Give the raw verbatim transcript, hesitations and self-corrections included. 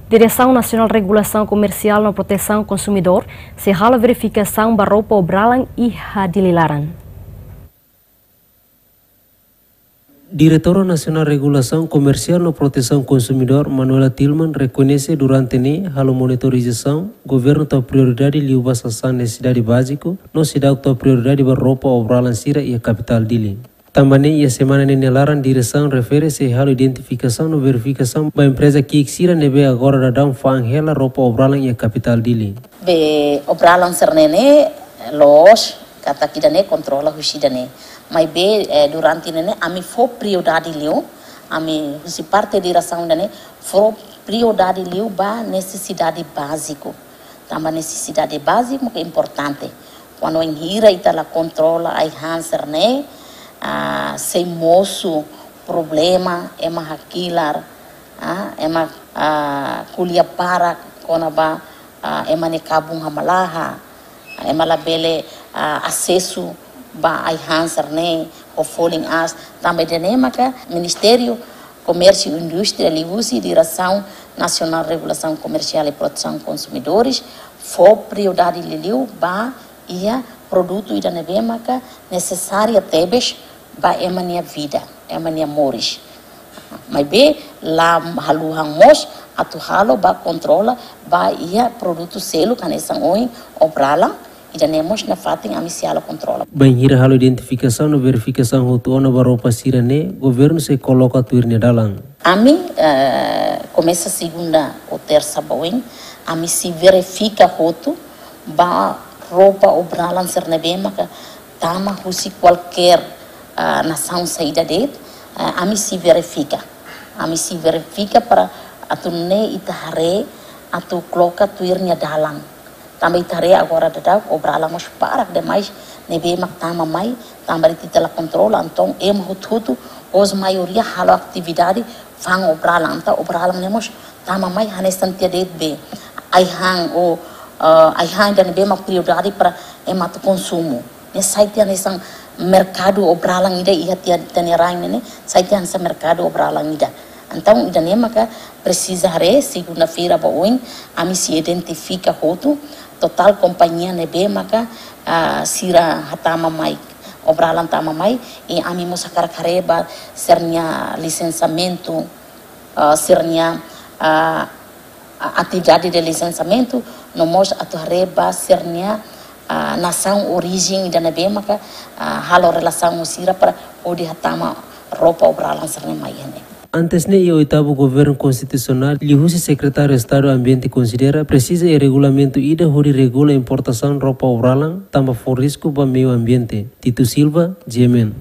Diresaun Nasionál Regulasaun Komersiál no Protesaun Konsumidór sei halo verifikasaun ba roupa obralan iha Dili laran. Diretora Nasionál Regulasaun Komersiál no Protesaun Konsumidór, Manuela Tilman, rekoñese durante ne'e halo monitorizasaun, governu tau prioridade liu ba sasán nesesidade báziku, no seidauk tau prioridade ba roupa obralan sira iha kapitál Dili. Tanba ne'e iha semana ne'e nia laran diresaun refere sei halo identifikasaun no verifikasaun ba empreza ki'ik sira ne'ebé agora daudaun fa'an hela roupa obralan iha kapitál Dili. Be obralan sira-ne'e ne'e loos katak ida-ne'e kontrola husi ida-ne'e. Maibé, eh, durante ne'e ne'e ami fó prioridade liu, ami husi parte diresaun ida-ne'e fó prioridade liu ba nesesidade báziku. Tanba nesesidade báziku ke importante. Kuandu bainhira ita la kontrola ai-han sira-ne'e, ah, sei mosu problema, ema hakilar, ah, ema, ah, ko'alia barak kona-ba, ah, ema nia kabun hamlaha, ema labele, ah, asesu ba ai-han sira-ne'e, ho folin aas, tanba ida-ne'e maka Ministériu Komérsiu Indústria liuhusi Diresaun Nasionál Regulasaun Komersiál i Protesaun Konsumidores fó prioridade liuliu ba iha produtu ida ne'ebé maka nesesária tebes ba ema nia vida, ema nia moris. Maibé la haluha mós atu halo ba kontrola ba iha produtu seluk hanesan ohin obralan, ida-ne'e mós nafatin ami sei halo kontrola. Bainhira halo identifikasaun no verifikasaun hotu ona ba roupa sira-ne'e, governu sei koloka tuir nia dalan. Ami, eh, komesa segunda ou tersa ba oin, ami sei verifika hotu ba roupa obralan sira ne'ebé maka tama husi kualkér, ah, nasaun saida de'it, ah, ami sei verifika. Ami sei verifika para atu nune'e ita haree atu koloka tuir nia dalan. Tanba ita haree agora daudaun obralan mós barak demais ne'ebé mak tama mai, tanba ita la kontrola, entaun ema hotu-hotu, os maioria halo atividade fa'an obralan, entaun obralan ne'e mós tama mai hanesan tiha de'it be ai-han ou, eh, ai-han ida ne'ebé mak prioridade para ema atu konsumu. Ne'e sai tiha hanesan merkadu obralan ida iha tiha ita-nia rain ne'e, sai tiha hanesan merkadu obralan ida. Entaun ida-ne'e maka presiza haree, segunda-feira ba oin, ami sei identifika hotu totál kompañia ne'ebé maka, ah, sira hatama mai, obralan tama mai, i ami mós hakarak haree ba sira-nia lisensamentu, ah, sira-nia, ah, a-, atividade de lisensiamentu, no mós atu haree ba sira-nia, ah, nasaun orijen ida ne'ebé maka, ah, halo relasaun ho sira para hodi hatama roupa obralan sira-ne'e mai iha ne'e. Antes ne'e iha oitavu governu konstitusionál, liuhusi Sekretáriu Estadu Ambiente konsidera presiza iha regulamentu ida hodi regula importasaun roupa obralan tanba fó risku ba meiu ambiente. Tito Silva, G M N.